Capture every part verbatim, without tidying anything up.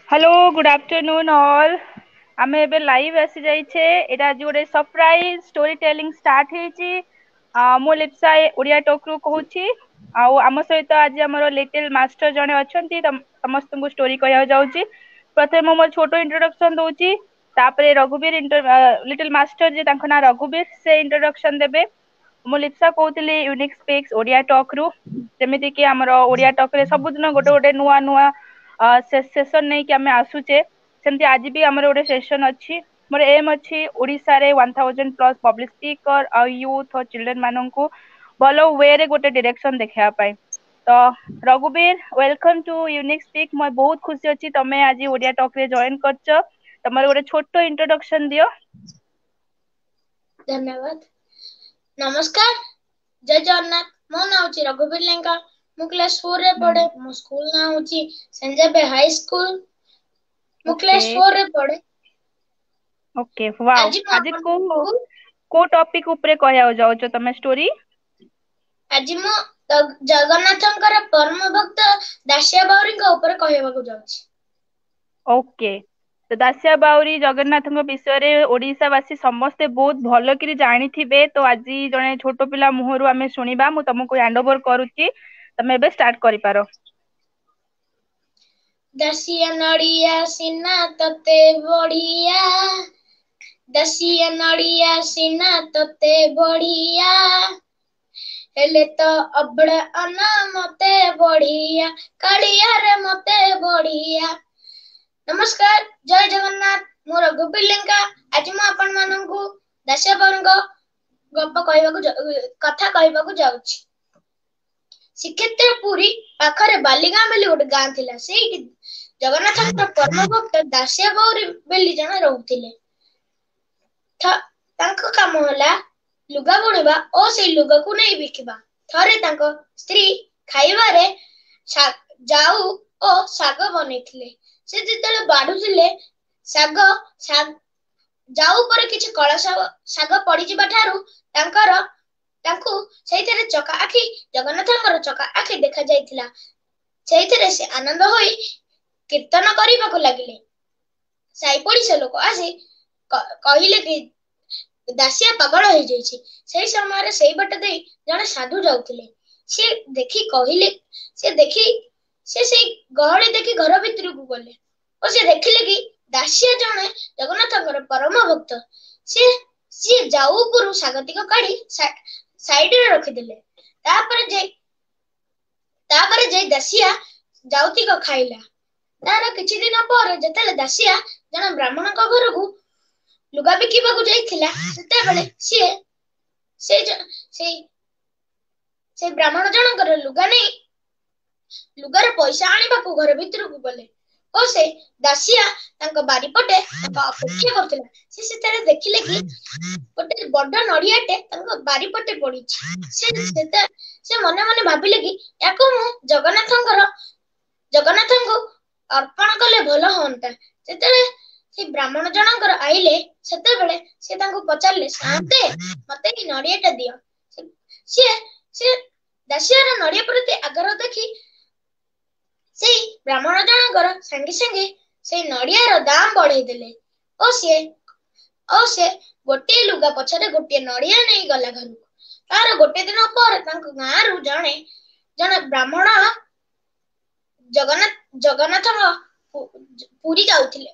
Hello good afternoon all. ଆମେ ଏବେ live ଆସି ଯାଇଛେ। ଏଇଟା ଆଜି ଗୋଟେ ସରପ୍ରାଇଜ ଷ୍ଟୋରି ଟେଲିଂ ଷ୍ଟାର୍ଟ ହେଇଛି। ମୁଁ ଲିପ୍ସା ଓଡିଆ ଟକ୍ ରୁ କହୁଛି, ଆଉ ଆମ ସହିତ ଆଜି ଆମର ଲିଟିଲ ମାଷ୍ଟର ଜଣେ ଅଛନ୍ତି, ସମସ୍ତଙ୍କୁ ଷ୍ଟୋରି କହିବାକୁ ଯାଉଛି। ପ୍ରଥମେ ମୁଁ ମୋର ଛୋଟ ଇଣ୍ଟ୍ରୋଡକ୍ସନ ଦଉଛି, ତାପରେ ରଘୁବୀର, ଲିଟିଲ ମାଷ୍ଟର ଯେ ତାଙ୍କ ନାଁ ରଘୁବୀର, ସେ ଇଣ୍ଟ୍ରୋଡକ୍ସନ ଦେବେ। ମୁଁ ଲିପ୍ସା କହୁଥିଲି ୟୁନିକ୍ ସ୍ପିକ୍ସ ଓଡିଆ ଟକ୍ ରୁ। ଯେମିତି କି ଆମର ଓଡିଆ ଟକ୍ ରେ ସବୁଦିନ ଗୋଟେ ଗୋଟେ ନୂଆ ନୂଆ ସେସନ ନେଇକି ଆମେ ଆସୁଛେ, ସେମିତି ଆଜି ବି ଆମର ଗୋଟେ ସେସନ ଅଛି। ମୋର ଏମ୍ ଅଛି ଓଡିଶାରେ one thousand plus public speaker ଆଉ ୟୁଥ ଆଉ ଚିଲଡ୍ରେନ ମାନଙ୍କୁ ଭଲ ୱେରେ ଗୋଟେ ଡିରେକ୍ସନ ଦେଖେଇବା ପାଇଁ। ତ Raghubir, welcome to unique speak. ମୁଁ ବହୁତ ଖୁସି ଅଛି ତମେ ଆଜି ଓଡିଆ ଟକ୍ ରେ ଜଏନ କରିଛ। ତମର ଗୋଟେ ଛୋଟ ଇଣ୍ଟ୍ରୋଡକ୍ସନ ଦିଅ। ଧନ୍ୟବାଦ। ନମସ୍କାର, ଜୟ ଜଗନ୍ନାଥ। ମୋ ନାଁ ହଉଛି ରଘୁବୀର ଲେଙ୍କା। ମୁଁ କ୍ଲାସ ଫୋର ରେ ପଢେ। ମୋ ସ୍କୁଲ ନାଁ ହଉଛି ସେଞ୍ଜାବେ ହାଇ ସ୍କୁଲ। ମୁଁ ଓକେ କ୍ଲାସ ଫୋର ରେ ପଢେ। Okay, wow. ଆଜି ମୁଁ ଆଜି କୋଉ ଆପଣଙ୍କୁ କୋଉ ଟପିକ ଉପରେ କହିବାକୁ ଯାଉଛ ତମେ ଷ୍ଟୋରି? ଆଜି ମୁଁ ଜଗନ୍ନାଥଙ୍କର ପରମ ଭକ୍ତ ଦାସିଆ ବାଉରୀଙ୍କ ଉପରେ କହିବାକୁ ଯାଉଛି। ଓକେ, ତ ଦାସିଆ ବାଉରୀ ଜଗନ୍ନାଥଙ୍କ ବିଷୟରେ ଓଡିଶା ବାସୀ ସମସ୍ତେ ବହୁତ ଭଲ କରି ଜାଣିଥିବେ। ତ ଆଜି ଜଣେ ଛୋଟ ପିଲା ମୁହଁରୁ ଆମେ ଶୁଣିବା। ମୁଁ ତମକୁ ହ୍ୟାଣ୍ଡ ଓଭର କରୁଛି, ତମେ ଏବେ ଷ୍ଟାର୍ଟ କରିପାର। ଦାସିଆ ନଡିଆ ସିନା ତତେ ବଢିଆ, ଦାସିଆ ନଡିଆ ସିନା ତତେ ବଢିଆ, ହେଲେ ତ ଅବଢା ଅନ୍ନ ମତେ ବଢିଆ, କାଳିଆରେ ମତେ ବଢିଆ। ନମସ୍କାର, ଜୟ ଜଗନ୍ନାଥ। ମୁଁ ରଘୁବୀର ଲେଙ୍କା। ଆଜି ମୁଁ ଆପଣ ମାନଙ୍କୁ ଦାସିଆ ବାଉରୀଙ୍କ ଗପ କହିବାକୁ, କଥା କହିବାକୁ ଯାଉଛି। ଶ୍ରୀକ୍ଷେତ୍ର ପୁରୀ ପାଖରେ ବାଲିଗାଁ ବୋଲି ଗୋଟେ ଗାଁ ଥିଲା। ସେଇଠି ଜଗନ୍ନାଥଙ୍କ ପରମ ଭକ୍ତ ଦାସିଆ ବାଉରୀ ବୋଲି ଜଣେ ରହୁଥିଲେ। ତାଙ୍କ କାମ ହେଲା ଲୁଗା ବୁଣିବା ଓ ସେଇ ଲୁଗାକୁ ନେଇ ବିକିବା। ଥରେ ତାଙ୍କ ସ୍ତ୍ରୀ ଖାଇବାରେ ଜାଉ ଓ ଶାଗ ବନେଇଥିଲେ। ସେ ଯେତେବେଳେ ବାଢୁଥିଲେ ଶାଗ, ଜାଉ ଉପରେ କିଛି କଳା ଶାଗ ପଡିଯିବା ଠାରୁ ତାଙ୍କର ତାଙ୍କୁ ସେଇଥିରେ ଚକା ଆଖି, ଜଗନ୍ନାଥଙ୍କର ଚକା ଆଖି ଦେଖାଯାଇଥିଲା। ସେଇଥିରେ ସେ ଆନନ୍ଦ ହୋଇ କୀର୍ତ୍ତନ କରିବାକୁ ଲାଗିଲେ। ସାଇ ପଡିଶା ଲୋକ ଆସି କହିଲେ କି ଦାସିଆ ପାଗଳ ହେଇଯାଇଛି। ସେଇ ସମୟରେ ସେଇ ବାଟ ଦେଇ ଜଣେ ସାଧୁ ଯାଉଥିଲେ। ସିଏ ଦେଖି କହିଲେ, ସେ ଦେଖି ସେ ସେଇ ଗହଳି ଦେଖି ଘର ଭିତରକୁ ଗଲେ ଓ ସେ ଦେଖିଲେ କି ଦାସିଆ ଜଣେ ଜଗନ୍ନାଥଙ୍କର ପରମ ଭକ୍ତ। ସିଏ ସିଏ ଜାଉ ଉପରୁ ଶାଗତିକ କାଢି ସାଇଡରେ ରଖିଦେଲେ। ତାପରେ ଯାଇ ତାପରେ ଯାଇ ଦାସିଆ ଜାଉତିକ ଖାଇଲା। ତାର କିଛି ଦିନ ପରେ ଯେତେବେଳେ ଦାସିଆ ଜଣେ ବ୍ରାହ୍ମଣଙ୍କ ଘରକୁ ଲୁଗା ବିକିବାକୁ ଯାଇଥିଲା, ସେତେବେଳେ ସିଏ ସେଇ ସେଇ ସେଇ ବ୍ରାହ୍ମଣ ଜଣଙ୍କର ଲୁଗା ନେଇ ଲୁଗାର ପଇସା ଆଣିବାକୁ ଘର ଭିତରକୁ ଗଲେ ଓ ସେ ଦାସିଆ ତାଙ୍କ ବାରିପଟେ ତାଙ୍କ ଅପେକ୍ଷା କରୁଥିଲା। ସେ ସେତେବେଳେ ଦେଖିଲେ କି ଗୋଟେ ବଡ ନଡିଆଟେ ତାଙ୍କ ବାରିପଟେ ପଡିଛି। ସେ ସେ ମନେ ମନେ ଭାବିଲେ କି ୟାକୁ ମୁଁ ଜଗନ୍ନାଥଙ୍କର ଜଗନ୍ନାଥଙ୍କୁ ଅର୍ପଣ କଲେ ଭଲ ହୁଅନ୍ତା। ଯେତେବେଳେ ସେ ବ୍ରାହ୍ମଣ ଜଣଙ୍କର ଆଇଲେ, ସେତେବେଳେ ସେ ତାଙ୍କୁ ପଚାରିଲେ, ସାଆନ୍ତେ ମତେ ଏଇ ନଡିଆଟା ଦିଅ। ସିଏ ସେ ଦାସିଆର ନଡିଆ ପ୍ରତି ଆଗ୍ରହ ଦେଖି ସେଇ ବ୍ରାହ୍ମଣ ଜଣଙ୍କର ସାଙ୍ଗେ ସାଙ୍ଗେ ସେଇ ନଡିଆର ଦାମ ବଢେଇ ଦେଲେ ଓ ସିଏ ଓ ସେ ଗୋଟିଏ ଲୁଗା ପଛରେ ଗୋଟିଏ ନଡିଆ ନେଇ ଗଲା ଘରକୁ। ତାର ଗୋଟେ ଦିନ ପରେ ତାଙ୍କ ଗାଁରୁ ଜଣେ ଜଣେ ବ୍ରାହ୍ମଣ ଜଗନ୍ନାଥ ଜଗନ୍ନାଥଙ୍କ ପୁରୀ ଯାଉଥିଲେ।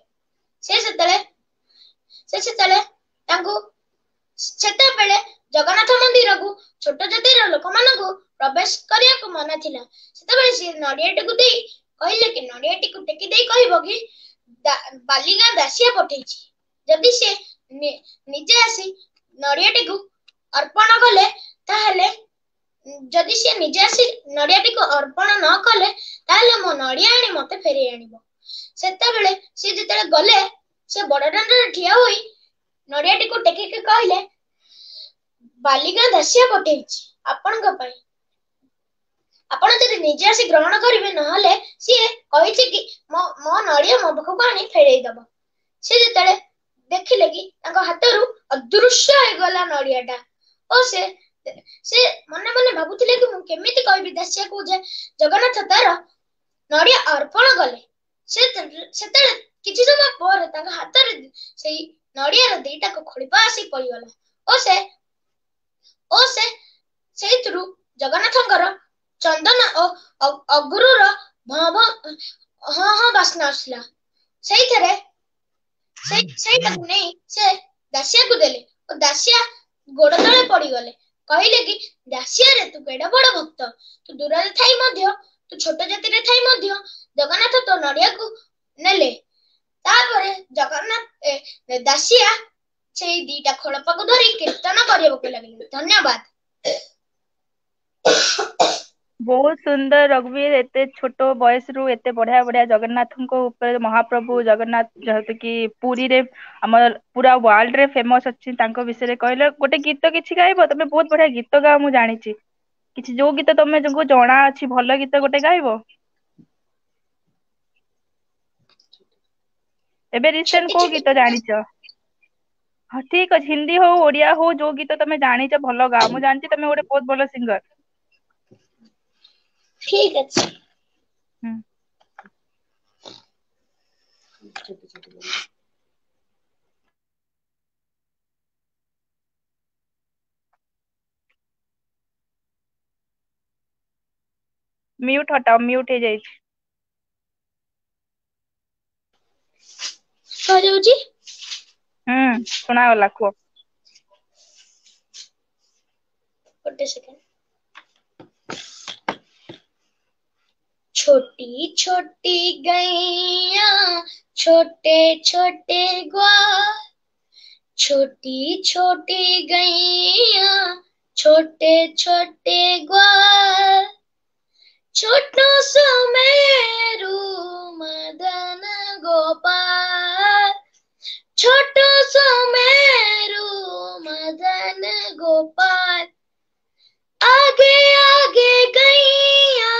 ସେ ସେତେବେଳେ ସେ ସେତେବେଳେ ତାଙ୍କୁ ସେତେବେଳେ ଜଗନ୍ନାଥ ମନ୍ଦିରକୁ ଛୋଟ ଜାତିର ଲୋକମାନଙ୍କୁ ପ୍ରବେଶ କରିବାକୁ ମନା ଥିଲା। ସେତେବେଳେ ସିଏ ନଡିଆଟିକୁ ଦେଇ କହିଲେ କି ନଡିଆଟିକୁ ଟେକି ଦେଇ କହିବ କି ବାଲିଗାଁ ଦାସିଆ ପଠେଇଛି, ଯଦି ସେ ନିଜେ ଆସି ନଡିଆଟିକୁ ଅର୍ପଣ କଲେ, ତାହେଲେ ଯଦି ସିଏ ନିଜେ ଆସି ନଡିଆଟିକୁ ଅର୍ପଣ ନ କଲେ, ତାହେଲେ ମୋ ନଡିଆ ଆଣି ମତେ ଫେରେଇ ଆଣିବ। ସେତେବେଳେ ସିଏ ଯେତେବେଳେ ଗଲେ, ସେ ବଡ ଦାଣ୍ଡରେ ଠିଆ ହୋଇ ନଡିଆଟିକୁ ଟେକିକି କହିଲେ, ବାଲିଗାଁ ଦାସିଆ ପଠେଇଛି ଆପଣଙ୍କ ପାଇଁ, ଆପଣ ଯଦି ନିଜେ ଆସି ଗ୍ରହଣ କରିବେ, ନହେଲେ ସିଏ କହିଛି କି ମୋ ମୋ ନଡିଆ ମୋ ପାଖକୁ ଆଣି ଫେରେଇ ଦବ। ସେ ଯେତେବେଳେ ଦେଖିଲେ କି ତାଙ୍କ ହାତରୁ ଅଦୃଶ୍ୟ ହେଇଗଲା ନଡିଆଟା ଓ ସେ ସେ ମନେ ମନେ ଭାବୁଥିଲେ କି ମୁଁ କେମିତି କହିବି ଦାସିଆକୁ ଯେ ଜଗନ୍ନାଥ ତାର ନଡିଆ ଅର୍ପଣ କଲେ। ସେ ସେତେବେଳେ କିଛି ସମୟ ପରେ ତାଙ୍କ ହାତରେ ସେଇ ନଡିଆର ଦିଟାକ ଖୋଳିପା ଆସି ପଡିଗଲା ଓ ସେ ଓ ସେ ସେଇଥିରୁ ଜଗନ୍ନାଥଙ୍କର ଚନ୍ଦନ ଓ ଅଗୁରୁର ଭଁ ଭଁ ହଁ ହଁ ବାସ୍ନା ଆସିଲା। ସେଇଥିରେ ସେଇ ସେଇଟାକୁ ନେଇ ସେ ଦାସିଆକୁ ଦେଲେ ଓ ଦାସିଆ ଗୋଡ ତଳେ ପଡିଗଲେ। କହିଲେ କି, ଦାସିଆରେ, ତୁ କେଡେ ବଡ ଭକ୍ତ! ତୁ ଦୂରରେ ଥାଇ ମଧ୍ୟ, ତୁ ଛୋଟ ଜାତିରେ ଥାଇ ମଧ୍ୟ ଜଗନ୍ନାଥ ତୋ ନଡିଆକୁ ନେଲେ। ତାପରେ ଜଗନ୍ନାଥ ଦାସିଆ ସେଇ ଦିଟା ଖୋଳପାକୁ ଧରି କୀର୍ତ୍ତନ କରିବାକୁ ଲାଗିଲେ। ଧନ୍ୟବାଦ। ବହୁତ ସୁନ୍ଦର ରଘୁବୀର, ଏତେ ଛୋଟ ବୟସରୁ ଏତେ ବଢିଆ ବଢିଆ ଜଗନ୍ନାଥଙ୍କ ଉପରେ, ମହାପ୍ରଭୁ ଜଗନ୍ନାଥ ଯେହେତୁ କି ପୁରୀରେ ଆମର ପୁରା ୱାର୍ଲଡ ରେ ଫେମସ ଅଛି, ତାଙ୍କ ବିଷୟରେ କହିଲ। ଗୋଟେ ଗୀତ କିଛି ଗାଇବ? ତମେ ବହୁତ ବଢିଆ ଗୀତ ଗାଅ ମୁଁ ଜାଣିଛି। କିଛି ଯୋଉ ଗୀତ ତମେ ତମକୁ ଜଣା ଅଛି, ଭଲ ଗୀତ ଗୋଟେ ଗାଇବ? ଏବେ ରିସେଣ୍ଟ ଛୋଟି କୋଉ ଛୋଟି ଗୀତ ଜାଣିଛ? ହଁ ଠିକ ଅଛି, ହିନ୍ଦୀ ହଉ ଓଡିଆ ହଉ, ଯୋଉ ଗୀତ ତମେ ଜାଣିଛ ଭଲ ଗାଅ। ମୁଁ ଜାଣିଛି ତମେ ଗୋଟେ ବହୁତ ଭଲ ସିଙ୍ଗର। ଠିକ ଅଛି। ହୁଁ। ମ୍ୟୁଟ ହଟାଅ, ମ୍ୟୁଟ ହେଇଯାଇଛି। ଶୁଭାଯାଉଛି? ହୁଁ, ଶୁଣାଗଲା କୁହ। ଗୋଟେ ସେକେଣ୍ଡ। छोटी छोटी गैया, छोटे छोटे ग्वाल, छोटी छोटी गैया, छोटे छोटे ग्वाल, छोटो सो मेरू मदन गोपाल, छोटो सो मेरू मदन गोपाल, आगे आगे गैया,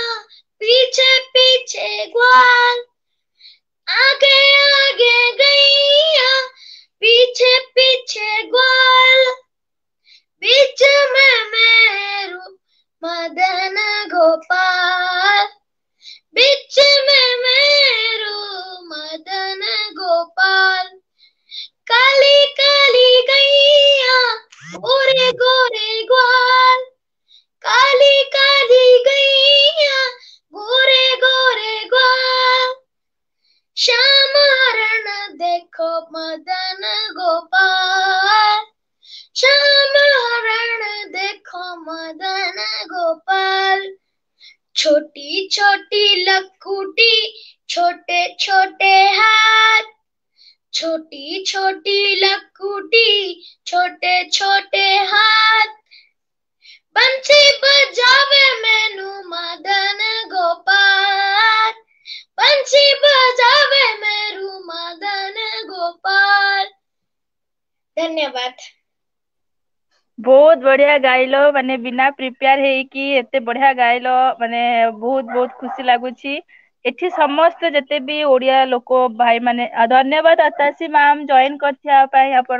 पीछे पीछे ग्वाल, आगे आगे गैया, पीछे पीछे ग्वाल, बीच में मेरू मदन गोपाल, बीच में मेरू मदन गोपाल, काली काली गैया, गोरे गोरे ग्वाल, काली काली गैया, गोरे गोरे ग्वाल, श्याम हरण देखो मदन गोपाल, श्याम हरण देखो मदन गोपाल, छोटी छोटी लकुटी, छोटे छोटे हाथ, छोटी छोटी लकुटी, छोटे छोटे हाथ, बंसी बजावे मैनू मदन गोपाल, बंसी बजावे मेरू मदन गोपाल। ଧନ୍ୟବାଦ। ବହୁତ ବଢିଆ ଗାଇଲ, ମାନେ ବିନା ପ୍ରିପେୟାର ହେଇକି ଏତେ ବଢିଆ ଗାଇଲ, ମାନେ ବହୁତ ବହୁତ ଖୁସି ଲାଗୁଛି। ଏଠି ସମସ୍ତେ ଯେତେ ବି ଓଡିଆ ଲୋକ ଭାଇ ମାନେ, ଧନ୍ୟବାଦ ଆତାସି ମ୍ୟାମ ଜଏନ କରିଥିବା ପାଇଁ, ଆପଣ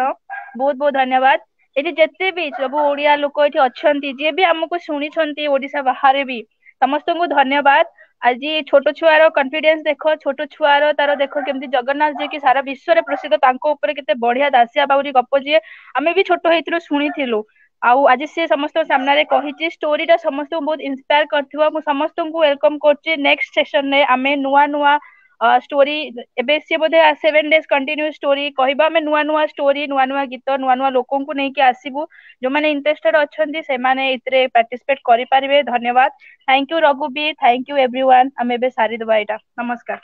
ବହୁତ ବହୁତ ଧନ୍ୟବାଦ। ଏଠି ଯେତେ ବି ସବୁ ଓଡିଆ ଲୋକ ଏଠି ଅଛନ୍ତି, ଯିଏ ବି ଆମକୁ ଶୁଣିଛନ୍ତି ଓଡିଶା ବାହାରେ ବି, ସମସ୍ତଙ୍କୁ ଧନ୍ୟବାଦ। ଆଜି ଛୋଟ ଛୁଆର କନଫିଡେନ୍ସ ଦେଖ, ଛୋଟ ଛୁଆର ତାର ଦେଖ କେମିତି ଜଗନ୍ନାଥ ଯିଏକି ସାରା ବିଶ୍ୱରେ ପ୍ରସିଦ୍ଧ, ତାଙ୍କ ଉପରେ କେତେ ବଢିଆ ଦାସିଆ ବାଉରୀ ଗପ, ଯିଏ ଆମେ ବି ଛୋଟ ହେଇଥିଲୁ ଶୁଣିଥିଲୁ, ଆଉ ଆଜି ସିଏ ସମସ୍ତଙ୍କ ସାମ୍ନାରେ କହିଛି। ଷ୍ଟୋରିଟା ସମସ୍ତଙ୍କୁ ବହୁତ ଇନ୍ସପାୟାର କରିଥିବ। ମୁଁ ସମସ୍ତଙ୍କୁ welcome କରୁଛି। ନେକ୍ସଟ ସେସନରେ ଆମେ ନୂଆ ନୂଆ ଷ୍ଟୋରି, ଏବେ ସିଏ ବୋଧେ ସେଭେନ ଡେଜ କଣ୍ଟିନ୍ୟୁ ଷ୍ଟୋରି କହିବା, ଆମେ ନୂଆ ନୂଆ ଷ୍ଟୋରି, ନୂଆ ନୂଆ ଗୀତ, ନୂଆ ନୂଆ ଲୋକଙ୍କୁ ନେଇକି ଆସିବୁ। ଯୋଉମାନେ ଇଣ୍ଟରେଷ୍ଟେଡ ଅଛନ୍ତି ସେମାନେ ଏଥିରେ ପାର୍ଟିସିପେଟ କରିପାରିବେ। ଧନ୍ୟବାଦ, thank you Raghubir, thank you everyone. ଆମେ ଏବେ ସାରିଦବା ଏଇଟା। ନମସ୍କାର।